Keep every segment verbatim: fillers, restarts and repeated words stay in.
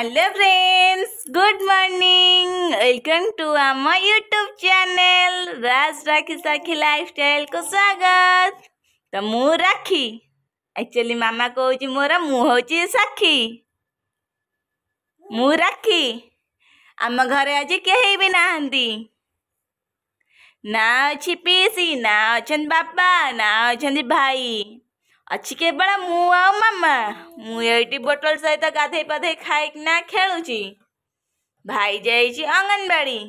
Hello friends, good morning. Welcome to ଆମ YouTube channel ରାଜ ରାଖୀ ସାକ୍ଷୀ ଲାଇଫଷ୍ଟାଇଲକୁ ସ୍ୱାଗତ। ତ ମୁଁ ରାକ୍ଷୀ, ଆକ୍ଚୁଆଲି ମାମା କହୁଛି ମୋର, ମୁଁ ହେଉଛି ସାକ୍ଷୀ। ମୁଁ ରାକ୍ଷୀ। ଆମ ଘରେ ଆଜି କେହି ବି ନାହାନ୍ତି, ନା ଅଛି ପିଇସି, ନା ଅଛନ୍ତି ବାପା, ନା ଅଛନ୍ତି ଭାଇ, ଅଛି କେବଳ ମୁଁ ଆଉ ମାମା। ମୁଁ ଏଇଠି ବୋଟଲ ସହିତ ଗାଧେଇ ପାଧେଇ ଖାଇକିନା ଖେଳୁଛି। ଭାଇ ଯାଇଛି ଅଙ୍ଗନବାଡ଼ି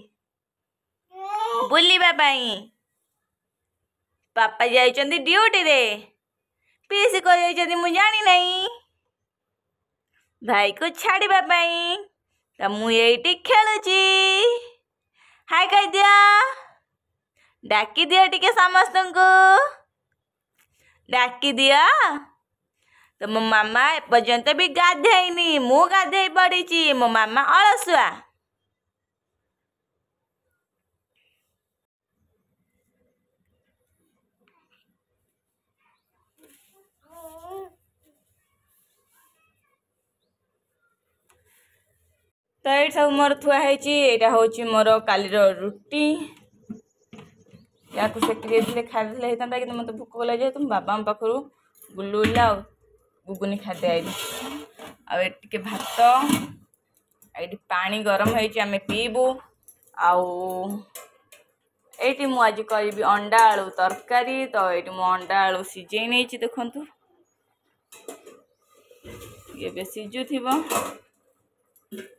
ବୁଲିବା ପାଇଁ, ବାପା ଯାଇଛନ୍ତି ଡ୍ୟୁଟିରେ, ପିଇସି କୁଆଡ଼େ ଯାଇଛନ୍ତି ମୁଁ ଜାଣିନାହିଁ, ଭାଇକୁ ଛାଡ଼ିବା ପାଇଁ। ତ ମୁଁ ଏଇଠି ଖେଳୁଛି। ହାଇ କହିଦିଅ, ଡାକି ଦିଅ ଟିକେ ସମସ୍ତଙ୍କୁ, ଡାକି ଦିଅ। ତ ମୋ ମାମା ଏପର୍ଯ୍ୟନ୍ତ ବି ଗାଧେଇନି, ମୁଁ ଗାଧେଇ ପଡ଼ିଛି, ମୋ ମାମା ଅଳସୁଆ। ତ ଏଇଠି ସବୁ ମୋର ଥୁଆ ହେଇଛି। ଏଇଟା ହେଉଛି ମୋର କାଲିର ରୁଟି, ୟାକୁ ସେକି ଦେଇଥିଲେ ଖାଇଦେଲେ ହେଇଥାନ୍ତା, କିନ୍ତୁ ମୋତେ ଭୋକ କଲା ଯେହେତୁ ମୁଁ ବାବାଙ୍କ ପାଖରୁ ଗୁଲୁଗୁଲା ଆଉ ଗୁଗୁନି ଖାଦ୍ୟ ଆଇଲି। ଆଉ ଏଠି ଟିକେ ଭାତ, ଏଇଠି ପାଣି ଗରମ ହେଇଛି, ଆମେ ପିଇବୁ। ଆଉ ଏଇଠି ମୁଁ ଆଜି କରିବି ଅଣ୍ଡା ଆଳୁ ତରକାରୀ। ତ ଏଇଠି ମୁଁ ଅଣ୍ଡା ଆଳୁ ସିଝେଇ ନେଇଛି, ଦେଖନ୍ତୁ ଏବେ ସିଝୁଥିବ।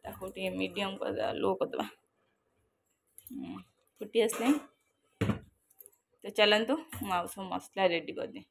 ତାକୁ ଟିକେ ମିଡ଼ିୟମ୍ କରିଦେବା, ଲୋ କରିଦେବା, ଫୁଟି ଆସିଲାଣି। ତ ଚାଲନ୍ତୁ ମୁଁ ଆଉ ସବୁ ମସଲା ରେଡ଼ି କରିଦିଏ।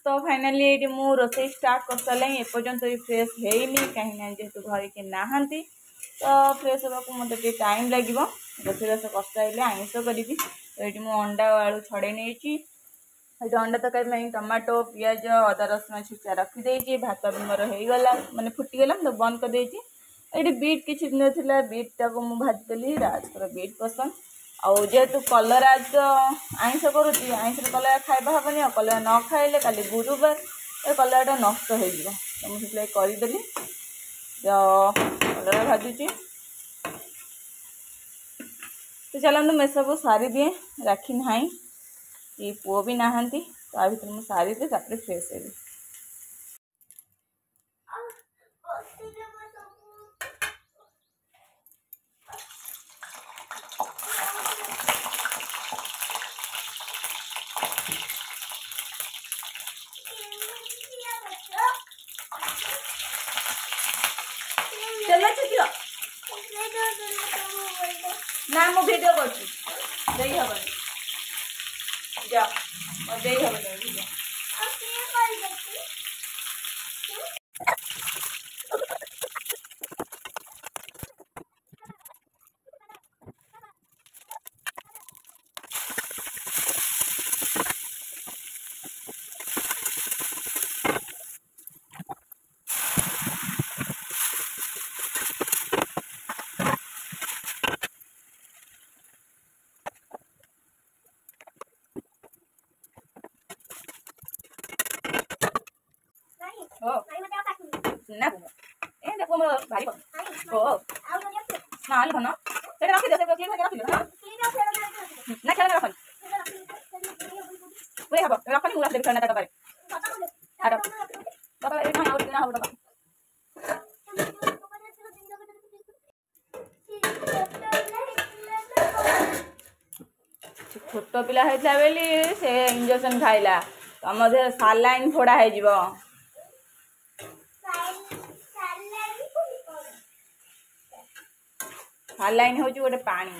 ତ ଫାଇନାଲି ଏଇଠି ମୁଁ ରୋଷେଇ ଷ୍ଟାର୍ଟ କରିସାରିଲାଣି। ଏପର୍ଯ୍ୟନ୍ତ ବି ଫ୍ରେଶ୍ ହେଇନି, କାହିଁକିନା ଯେହେତୁ ଘରେ କେହି ନାହାନ୍ତି, ତ ଫ୍ରେଶ୍ ହେବାକୁ ମୋତେ ଟିକେ ଟାଇମ୍ ଲାଗିବ। ରୋଷେଇବାସ କରିସାରିଲେ ଆଇଁଷ କରିବି। ତ ଏଇଠି ମୁଁ ଅଣ୍ଡା ଆଉ ଆଳୁ ଛଡ଼େଇ ନେଇଛି। ଏଇଠି ଅଣ୍ଡା ତରକାରୀ ପାଇଁ ଟମାଟୋ, ପିଆଜ, ଅଦା ରସୁଣ ଛେଚା ରଖିଦେଇଛି। ଭାତ ବି ମୋର ହେଇଗଲା, ମାନେ ଫୁଟିଗଲା, ମୁଁ ତ ବନ୍ଦ କରିଦେଇଛି। ଏଇଠି ବିଟ୍ କିଛି ଦିନ ଥିଲା, ବିଟ୍ଟାକୁ ମୁଁ ଭାଜିଦେଲି। ରାଜଙ୍କର ବିଟ୍ ପସନ୍ଦ। ଆଉ ଯେହେତୁ କଲରା ତ ଆଇଁଷ କରୁଛି, ଆଇଁଷରେ କଲରା ଖାଇବା ହେବନି, ଆଉ କଲରା ନ ଖାଇଲେ କାଲି ଗୁରୁବାର ଏ କଲରାଟା ନଷ୍ଟ ହେଇଯିବ, ତ ମୁଁ ସେଥିଲାଗି କରିଦେଲି। ତ କଲରା ଭାଜୁଛି। ତ ଚାଲନ୍ତୁ ମୁଁ ଏସବୁ ସାରିଦିଏ। ରାକ୍ଷୀ ନାହିଁ କି ପୁଅ ବି ନାହାନ୍ତି, ତା ଭିତରେ ମୁଁ ସାରିଦିଏ, ତାପରେ ଫ୍ରେଶ୍ ହେବି। ନା ମୁଁ ଭିଡ଼ିଓ କରୁଛି, ଦେଇ ହବନି, ଯା ଦେଇ ହବନି ଭିଡ଼ିଓ। ଓ ନା, ଏ ଦେଖ, ମୋର ଭାରି ପସନ୍ଦ। ଓ ନା ଧନ, ସେଇଟା ରଖିଦିଅ, ସେ କ୍ଲିପ୍ ରଖିଦିଅ। ହଁ ନା, ଖେଳନା ରଖନି, ପୁରେଇ ହବ, ରଖନି। ମୁଁ ରଖିଦେବି ଖେଳନା ତା ଡବାରେ। ଡବା ଆଉ କିଣା ହବ ଡବା। ଛୋଟ ପିଲା ହେଇଥିଲା ବୋଲି ସେ ଇଞ୍ଜେକ୍ସନ ଖାଇଲା, ତମ ଦେହ ସାଲାଇନ୍ ଫୋଡ଼ା ହେଇଯିବ। ସାଲାଇନ୍ ହେଉଛି ଗୋଟେ ପାଣି,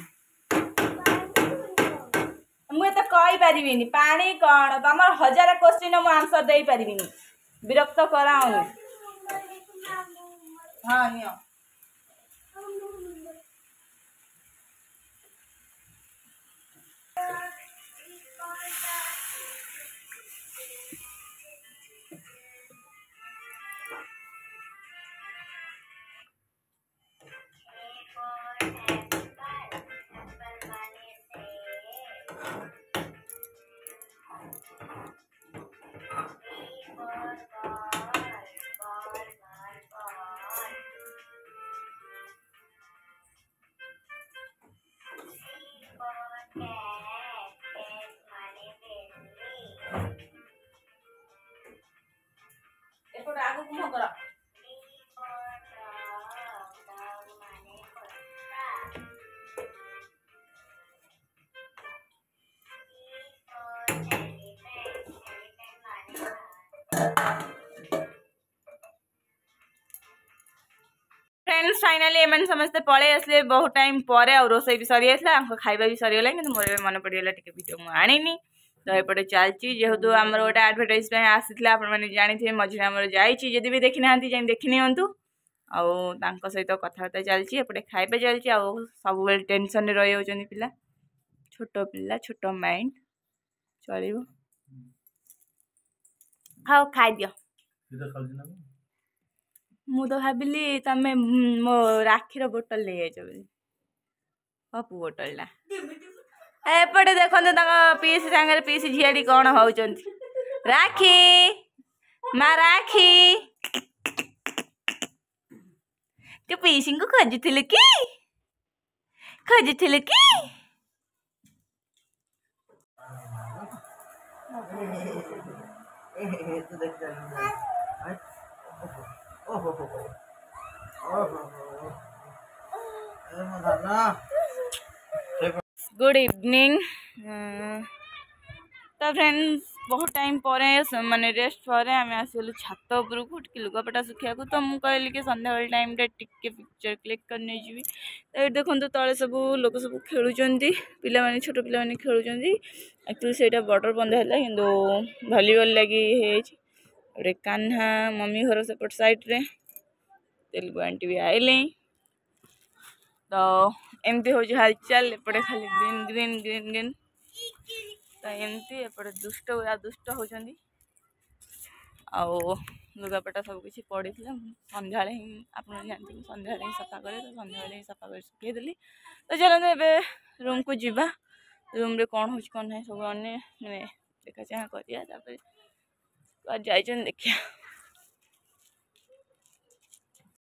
ମୁଁ ଏତେ କହିପାରିବିନି ପାଣି କ'ଣ। ତମର ହଜାରେ କୋଶ୍ଚିନ୍, ମୁଁ ଆନ୍ସର ଦେଇପାରିବିନି, ବିରକ୍ତ କରାଉନି। ହଁ, ନିଅ। ଏପଟେ ଆଗକୁ ମୁହଁ କର। ଫ୍ରେଣ୍ଡସ୍, ଫାଇନାଲି ଏମାନେ ସମସ୍ତେ ପଳେଇ ଆସିଲେ ବହୁତ ଟାଇମ୍ ପରେ, ଆଉ ରୋଷେଇ ବି ସରିଯାଇଥିଲା, ଆଙ୍କ ଖାଇବା ବି ସରିଗଲା। କିନ୍ତୁ ମୋର ଏବେ ମନେ ପଡ଼ିଗଲା ଟିକେ ଭିଡ଼ିଓ ମୁଁ ଆଣିନି। ତ ଏପଟେ ଚାଲିଛି, ଯେହେତୁ ଆମର ଗୋଟେ ଆଡ଼ଭର୍ଟାଇଜ୍ ପାଇଁ ଆସିଥିଲା, ଆପଣମାନେ ଜାଣିଥିବେ, ମଝିରେ ଆମର ଯାଇଛି, ଯଦି ବି ଦେଖିନାହାନ୍ତି ଯାଇ ଦେଖିନିଅନ୍ତୁ। ଆଉ ତାଙ୍କ ସହିତ କଥାବାର୍ତ୍ତା ଚାଲିଛି, ଏପଟେ ଖାଇବା ଚାଲିଛି, ଆଉ ସବୁବେଳେ ଟେନସନ୍ରେ ରହିଯାଉଛନ୍ତି ପିଲା। ଛୋଟ ପିଲା, ଛୋଟ ମାଇଣ୍ଡ, ଚଳିବ। ହଉ, ଖାଇଦିଅ। ମୁଁ ତ ଭାବିଲି ତମେ ମୋ ରାକ୍ଷୀର ବୋଟଲ ନେଇଯାଇଛ ବୋଲି, ପପୁ ବୋଟଲଟା। ଏପଟେ ଦେଖନ୍ତୁ, ତାଙ୍କ ପିଇସି ସାଙ୍ଗରେ ପିଇସି ଝିଆରୀ କ'ଣ ହଉଛନ୍ତି। ରାକ୍ଷୀ ମା, ରାକ୍ଷୀ, ତୁ ପିଇସିଙ୍କୁ ଖୋଜୁଥିଲୁ କି? ଖୋଜୁଥିଲୁ କି? ଓହୋ ହୋ, ଓହୋ ଏ ମୋ ଧନ। Good evening. ତ ଫ୍ରେଣ୍ଡସ୍, ବହୁତ ଟାଇମ୍ ପରେ, ମାନେ ରେଷ୍ଟ ପରେ ଆମେ ଆସିଗଲୁ ଛାତ ଉପରକୁ ଟିକେ ଲୁଗାପଟା ଶୁଖିବାକୁ। ତ ମୁଁ କହିଲି କି ସନ୍ଧ୍ୟାବେଳ ଟାଇମ୍ରେ ଟିକେ ପିକ୍ଚର କ୍ଲିକ୍ କରି ନେଇଯିବି। ତ ଏଇଠି ଦେଖନ୍ତୁ, ତଳେ ସବୁ ଲୋକ ସବୁ ଖେଳୁଛନ୍ତି, ପିଲାମାନେ, ଛୋଟ ପିଲାମାନେ ଖେଳୁଛନ୍ତି। ଆକ୍ଚୁଆଲି ସେଇଟା ବର୍ଡ଼ର ବନ୍ଧା ହେଲା, କିନ୍ତୁ ଭଲିବଲ୍ ଲାଗି ହେଇଯାଇଛି। ଗୋଟେ କାହ୍ନା ମମି ଘର ସେପଟ ସାଇଡ଼୍ରେ, ତେଲୁଗୁ ଆଣ୍ଟି ବି ଆଇଲେ। ତ ଏମିତି ହେଉଛି ହାଲଚାଲ। ଏପଟେ ଖାଲି ଗ୍ରୀନ୍ ଗ୍ରୀନ୍ ଗ୍ରୀନ୍ ଗ୍ରୀନ୍। ତ ଏମିତି ଏପଟେ ଦୁଷ୍ଟ ଗୁଡ଼ା ଦୁଷ୍ଟ ହେଉଛନ୍ତି। ଆଉ ଲୁଗାପଟା ସବୁ କିଛି ପଡ଼ିଥିଲା, ସନ୍ଧ୍ୟାବେଳେ ହିଁ, ଆପଣ ଜାଣିଥିବେ, ସନ୍ଧ୍ୟାବେଳେ ହିଁ ସଫା କରେ। ତ ସନ୍ଧ୍ୟାବେଳେ ହିଁ ସଫା କରି ଶୁଖେଇଦେଲି। ତ ଚାଲନ୍ତୁ, ଏବେ ରୁମ୍କୁ ଯିବା। ରୁମ୍ରେ କ'ଣ ହେଉଛି କ'ଣ ନାହିଁ ସବୁ ଅନ୍ୟ ମାନେ ଦେଖା ଚାହାଁ କରିବା, ତାପରେ କୁଆଡ଼େ ଯାଇଛନ୍ତି ଦେଖିବା।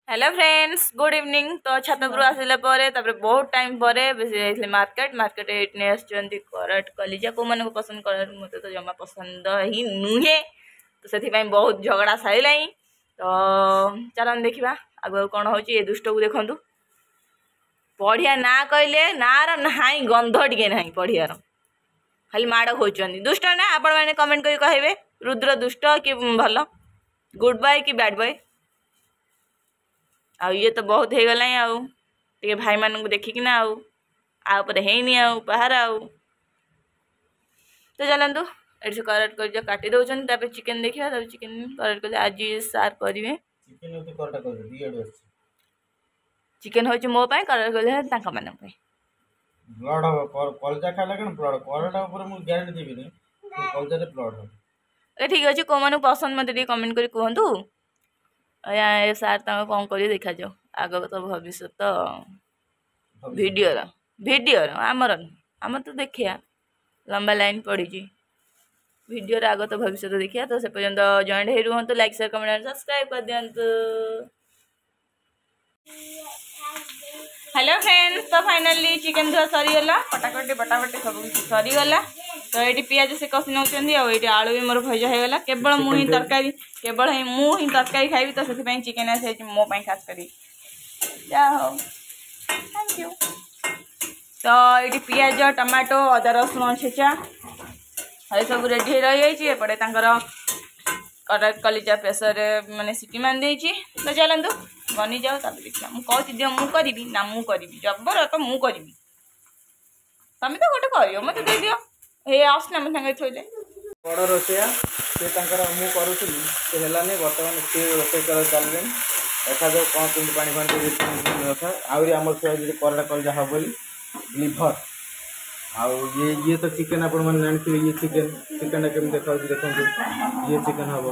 Hello friends, good evening. ତ ଛାତ ଉପରୁ ଆସିଲା ପରେ, ତାପରେ ବହୁତ ଟାଇମ୍ ପରେ ବେଶୀ ଯାଇଥିଲି ମାର୍କେଟ। ମାର୍କେଟ ଏଇଠି ନେଇ ଆସିଛନ୍ତି କରାଟ କଲିଜା। କେଉଁମାନଙ୍କୁ ପସନ୍ଦ କରାଟ? ମୋତେ ତ ଜମା ପସନ୍ଦ ହିଁ ନୁହେଁ, ତ ସେଥିପାଇଁ ବହୁତ ଝଗଡ଼ା ସାରିଲାଣି। ତ ଚାଲନ୍ତୁ ଦେଖିବା ଆଗକୁ କ'ଣ ହେଉଛି। ଏ ଦୁଷ୍ଟକୁ ଦେଖନ୍ତୁ, ପଢ଼ିଆ ନା କହିଲେ ନାର ନାହିଁ, ଗନ୍ଧ ଟିକେ ନାହିଁ ପଢ଼ିବାର, ଖାଲି ମାଡ଼ ଖାଉଛନ୍ତି। ଦୁଷ୍ଟ ନା? ଆପଣମାନେ କମେଣ୍ଟ କରି କହିବେ, ରୁଦ୍ର ଦୁଷ୍ଟ କି ଭଲ, ଗୁଡ୍ ବୟ କି ବ୍ୟାଡ୍ ବୟ? ଆଉ ଇଏ ତ ବହୁତ ହେଇଗଲାଣି, ଆଉ ଟିକେ ଭାଇମାନଙ୍କୁ ଦେଖିକିନା ଆଉ ଆଉ ଉପରେ ହେଇନି ଆଉ ବାହାର ଆଉ। ତ ଚାଲନ୍ତୁ, ଏଠି ସେ କରାଟ କରି କାଟି ଦେଉଛନ୍ତି, ତାପରେ ଚିକେନ୍ ଦେଖିବା, ତାପରେ ଚିକେନ୍ କରାଟ କଲେ ଆଜି ସାର୍ କରିବେ। ଚିକେନ ହେଉଛି କରଟା କରିବେ, ଦି ଆଡୁ ଅଛି। ଚିକେନ୍ ହେଉଛି ମୋ ପାଇଁ, କରାଟ କଲେ ତାଙ୍କମାନଙ୍କ ପାଇଁ। ବ୍ଲଡ୍ ହବ କଲଜା ଖାଇଲେ। କ'ଣ ବ୍ଲଡ୍ କରଟା ଉପରେ ମୁଁ ଗ୍ୟାରେଣ୍ଟି ଦେବିନି, କଲଜାରେ ବ୍ଲଡ୍ ହବ। ଏ ଠିକ୍ ଅଛି, କେଉଁମାନଙ୍କୁ ପସନ୍ଦ ମୋତେ ଟିକେ କମେଣ୍ଟ କରି କୁହନ୍ତୁ। ଏ ସାର୍ ତାଙ୍କ କ'ଣ କରିବେ ଦେଖାଯାଉ। ଆଗକୁ ତ ଭବିଷ୍ୟତ ଭିଡ଼ିଓର ଭିଡ଼ିଓର ଆମର ଆମର ତ ଦେଖିବା, ଲମ୍ବା ଲାଇନ୍ ପଡ଼ିଛି। ଭିଡ଼ିଓର ଆଗତ ଭବିଷ୍ୟତ ଦେଖିବା। ତ ସେ ପର୍ଯ୍ୟନ୍ତ ଜଏଣ୍ଟ ହେଇ ରୁହନ୍ତୁ, ଲାଇକ୍, ସେୟାର, କମେଣ୍ଟ, ସବସ୍କ୍ରାଇବ୍ କରିଦିଅନ୍ତୁ। ହ୍ୟାଲୋ ଫ୍ରେଣ୍ଡସ୍, ତ ଫାଇନାଲି ଚିକେନ୍ ଧୁଆ ସରିଗଲା, କଟାକଟି ବଟାବଟି ସବୁ କିଛି ସରିଗଲା। ତ ଏଇଠି ପିଆଜ ସେ କଷି ନେଉଛନ୍ତି ଆଉ ଏଇଠି ଆଳୁ ବି ମୋର ଭଜା ହେଇଗଲା। କେବଳ ମୁଁ ହିଁ ତରକାରୀ, କେବଳ ହିଁ ମୁଁ ହିଁ ତରକାରୀ ଖାଇବି, ତ ସେଥିପାଇଁ ଚିକେନ୍ ଆସିଯାଇଛି ମୋ ପାଇଁ ଖାସ କରି। ଯାହା ହଉ, thank you. ତ ଏଇଠି ପିଆଜ, ଟମାଟୋ, ଅଦା ରସୁଣ ଛେଚା ଏସବୁ ରେଡ଼ି ହେଇ ରହିଯାଇଛି। ଏପଟେ ତାଙ୍କର କଲିଜା ପ୍ରେସରରେ ମାନେ ସିଟି ମାରି ଦେଇଛି। ତ ଚାଲନ୍ତୁ ବନିଯାଉ, ତାପରେ ଦେଖିବା। ମୁଁ କହୁଛି ଦିଅ ମୁଁ କରିବି ନା, ମୁଁ କରିବି ଜବର ତ ମୁଁ କରିବି, ତମେ ତ ଗୋଟେ କରିବ, ମୋତେ ଦେଇଦିଅ। ହେ ଆସୁନା ମୋ ସାଙ୍ଗରେ ଥୋଇଲେ। ବଡ଼ ରୋଷେଇଆ ସେ ତାଙ୍କର, ମୁଁ କରୁଥିଲି ସେ ହେଲାନି, ବର୍ତ୍ତମାନ ସିଏ ରୋଷେଇ କରିବା ଚାଲିଲେଣି। ଦେଖାଯାଉ କ'ଣ କେମିତି ପାଣି ଫାଣି କଥା। ଆହୁରି ଆମର ଥୁଆ ହେଇଛି କଲରା କଲଜା ହେବ ବୋଲି ଲିଭର। ଆଉ ଇଏ ଇଏ ତ ଚିକେନ୍, ଆପଣମାନେ ଜାଣିଥିବେ। ଇଏ ଚିକେନ୍, ଚିକେନ୍ଟା କେମିତି ଦେଖାଯାଉଛି ଦେଖନ୍ତୁ। ଇଏ ଚିକେନ୍ ହେବ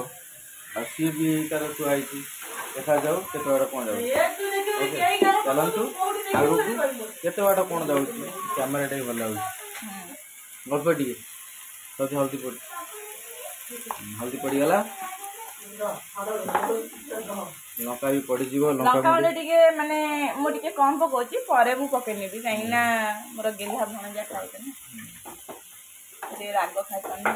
ଆଉ ସିଏ ବି ତାର ଥୁଆ ହେଇଛି। ଦେଖାଯାଉ କେତେ ବାଟ କ'ଣ ଯାଉଛି। ଓକେ, ଚାଲନ୍ତୁ ଆଗକୁ କେତେ ବାଟ କ'ଣ ଯାଉଛି। କ୍ୟାମେରାଟା ବି ଭଲ ଲାଗୁଛି। ଅଳ୍ପ ଟିକେ ହଳଦୀ, ହଳଦୀ ପଡ଼ି, ହଳଦୀ ପଡ଼ିଗଲା, ଲଙ୍କା ବି ପଡ଼ିଯିବ। ଲଙ୍କା ଗୁଣ୍ଡ ଟିକେ ମାନେ ମୁଁ ଟିକେ କମ୍ ପକଉଛି, ପରେ ମୁଁ ପକେଇ ନେବି, କାହିଁକି ନା ମୋର ଗେହ୍ଲା ଭଣଜା ଖାଇବେ ନା, ଟିକେ ରାଗ ଖାଇପାରୁନି।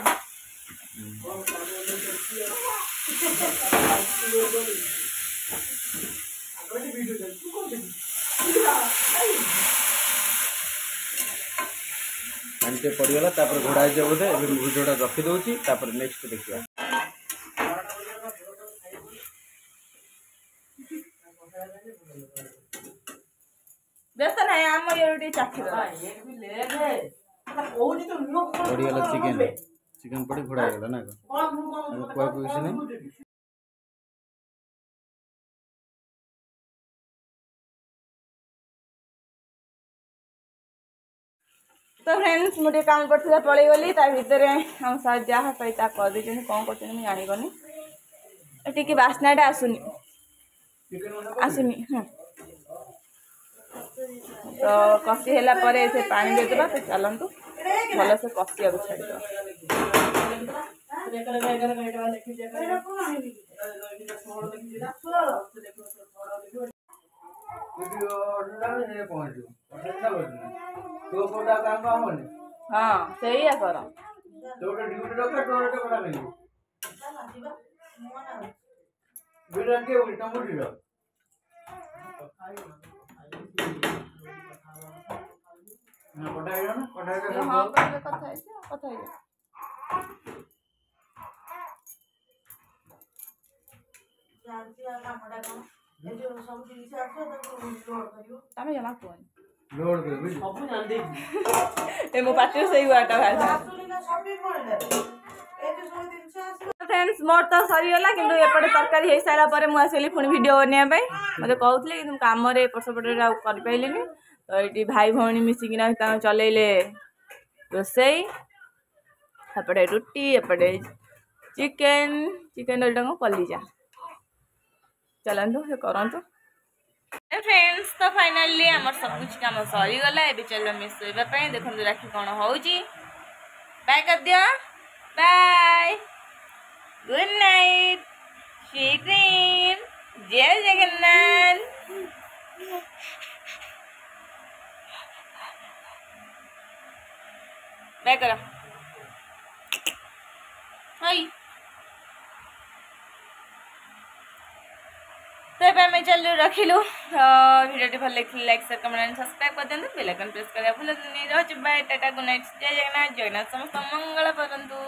ପାଣି ଟିକେ ପଡ଼ିଗଲା, ତାପରେ ଘୋଡ଼ା ହେଇଯିବ ବୋଧେ। ଏବେ ମୁଁ ଭିଡ଼ିଓଟା ରଖିଦେଉଛି, ତାପରେ ନେକ୍ସଟ ଦେଖିବା। ବ୍ୟସ୍ତ ନାହିଁ, ଆମ ଇଏରୁ ଟିକେ ଚାଖିଦେବା। ପଡ଼ିଗଲା ଚିକେନ, ଚିକେନ ପଡ଼ି ଘୋଡ଼ା ହେଇଗଲା ନା କ'ଣ? କୁହାକୁ କିଛି ନାହିଁ। ତ ଫ୍ରେଣ୍ଡସ୍, ମୁଁ ଟିକେ କାମ ପଡ଼ିଥିଲା ପଳେଇଗଲି। ତା ଭିତରେ ଆମ ସାର୍ ଯାହା ପାଇ ତାହା କରିଦେଇଛନ୍ତି। କ'ଣ କରୁଛନ୍ତି ମୁଁ ଜାଣିପାରୁନି। ଟିକେ ବାସ୍ନାଟା ଆସୁନି, ଆସୁନି। ହଁ, ତ କଷି ହେଲା ପରେ ସେ ପାଣି ଦେଇଦେବା। ତ ଚାଲନ୍ତୁ ଭଲସେ କଷିବାକୁ ଛାଡ଼ିଦେବା। ହଁ, ସେଇଆ କର। ହଁ, କଥା ହେଇଛି, କଥା ହେଇଯା। ତମେ ଜମା କୁହନି, ଏ ମୋ ପାଟିରୁ ସେଇ ୱାର୍ଡଟା ବାହାରିଲା। ଫ୍ରେଣ୍ଡସ୍, ମୋର ତ ସରିଗଲା, କିନ୍ତୁ ଏପଟେ ତରକାରୀ ହେଇସାରିଲା ପରେ ମୁଁ ଆସିଲି ପୁଣି ଭିଡ଼ିଓ ବନେଇବା ପାଇଁ। ମୋତେ କହୁଥିଲେ, କିନ୍ତୁ କାମରେ ଏପଟ ସେପଟରେ ଆଉ କରିପାରିଲିନି। ତ ଏଇଠି ଭାଇ ଭଉଣୀ ମିଶିକିନା ତାଙ୍କ ଚଲେଇଲେ ରୋଷେଇ। ଏପଟେ ରୁଟି, ଏପଟେ ଚିକେନ୍, ଚିକେନ୍ ଏଇଟା କଲିଜା। ଚାଲନ୍ତୁ ସେ କରନ୍ତୁ। ଫ୍ରେଣ୍ଡସ୍, ତ ଫାଇନାଲି ଆମର ସବୁ କିଛି କାମ ସରିଗଲା। ଏବେ ଚାଲୁ ଆମେ ଶୋଇବା ପାଇଁ। ଦେଖନ୍ତୁ ରାକ୍ଷୀ କ'ଣ ହେଉଛି। ବାଏ କରିଦିଅ, ବାଏ, ଗୁଡ୍ ନାଇଟ୍, ଶ୍ରୀ ଜୟ ଜଗନ୍ନାଥ। ବାଏ କର। ହାଇ। ତ ଏବେ ଆମେ ଚାଲୁ, ରଖିଲୁ। ତ ଭିଡ଼ିଓଟି ଭଲ ଲାଗିଥିଲେ ଲାଇକ୍, ସେୟାର, କମେଣ୍ଟ, ସବସ୍କ୍ରାଇବ୍ କରିଦିଅନ୍ତୁ। ବେଲ୍ ଆଇକନ୍ ପ୍ରେସ୍ କରିବା ଭୁଲନ୍ତୁନି। ରହୁଛି, ବାଏ, ଟାଟା, ଗୁଡ୍ ନାଇଟ୍। ଜୟ ଜଗନ୍ନାଥ, ଜଗନ୍ନାଥ ସମସ୍ତ ମଙ୍ଗଳ କରନ୍ତୁ।